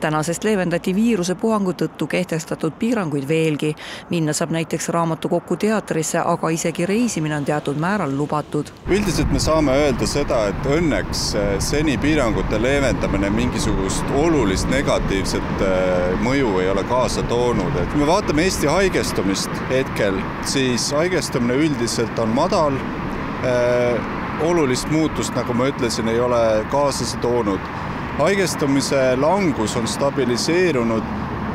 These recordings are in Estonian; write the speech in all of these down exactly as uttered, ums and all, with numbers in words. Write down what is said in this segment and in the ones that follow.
Tänasest leevendati viirusepuhangu tõttu kehtestatud piiranguid veelgi. Minna saab näiteks raamatukokku teatrisse, aga isegi reisimine on teatud määral lubatud. Üldiselt me saame öelda seda, et õnneks seni piirangute leevendamine mingisugust olulist negatiivset mõju ei ole kaasa toonud. Et me vaatame Eesti haigestumist hetkel, siis haigestumine üldiselt on madal. Olulist muutust, nagu ma ütlesin, ei ole kaasa toonud. Haigestumise langus on stabiliseerunud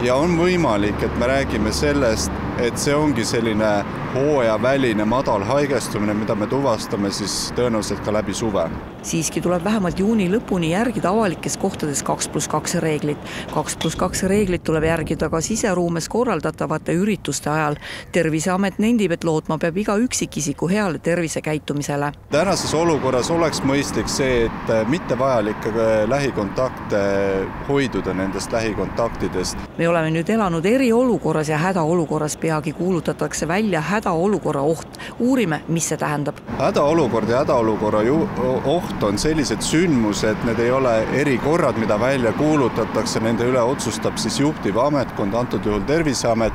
ja on võimalik, et me räägime sellest, et see ongi selline hooajaväline madal haigestumine, mida me tuvastame siis tõenäoliselt ka läbi suve. Siiski tuleb vähemalt juuni lõpuni järgida avalikes kohtades kaks pluss kaks reeglit. kaks pluss kaks reeglit tuleb järgida ka siseruumes korraldatavate ürituste ajal. Terviseamet nendib, et lootma peab iga üksikisiku heale tervisekäitumisele. Tänases olukorras oleks mõistlik see, et mitte vajalikke lähikontakte hoiduda nendest lähikontaktidest. Me oleme nüüd elanud eriolukorras ja hädaolukorras peagi kuulutatakse välja hädaolukorra oht. Uurime, mis see tähendab. Hädaolukord ja hädaolukorra oht on sellised sündmused, need ei ole erikorrad, mida välja kuulutatakse, nende üle otsustab siis juhtiv ametkond, antud juhul Terviseamet,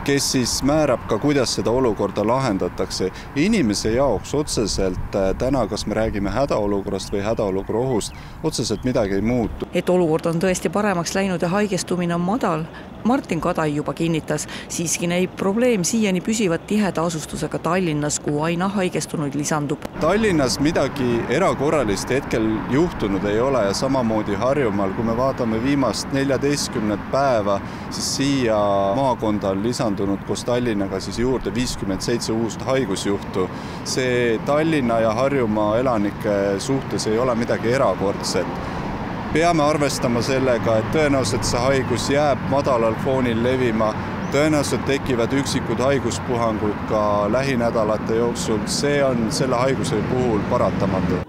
kes siis määrab ka, kuidas seda olukorda lahendatakse. Inimese jaoks otseselt täna, kas me räägime hädaolukorrast või hädaolukorra ohust, otseselt midagi ei muutu. Et olukord on tõesti paremaks läinud ja haigestumine on madal, Martin Kadai juba kinnitas, siiski näib probleem siiani püsivat tiheda asustusega Tallinnas, kuhu aina haigestunuid lisandub. Tallinnas midagi erakorralist hetkel juhtunud ei ole ja samamoodi Harjumaal, kui me vaatame viimast neljateistkümnet päeva, siis siia maakonda on lisandunud koos Tallinnaga siis juurde viiskümmend seitse uust haigusjuhtu. See Tallinna ja Harjumaa elanike suhtes ei ole midagi erakordset. Peame arvestama sellega, et tõenäoliselt see haigus jääb madalal foonil levima, tõenäoliselt tekivad üksikud haiguspuhangud ka lähinädalate jooksul. See on selle haiguse puhul paratamatu.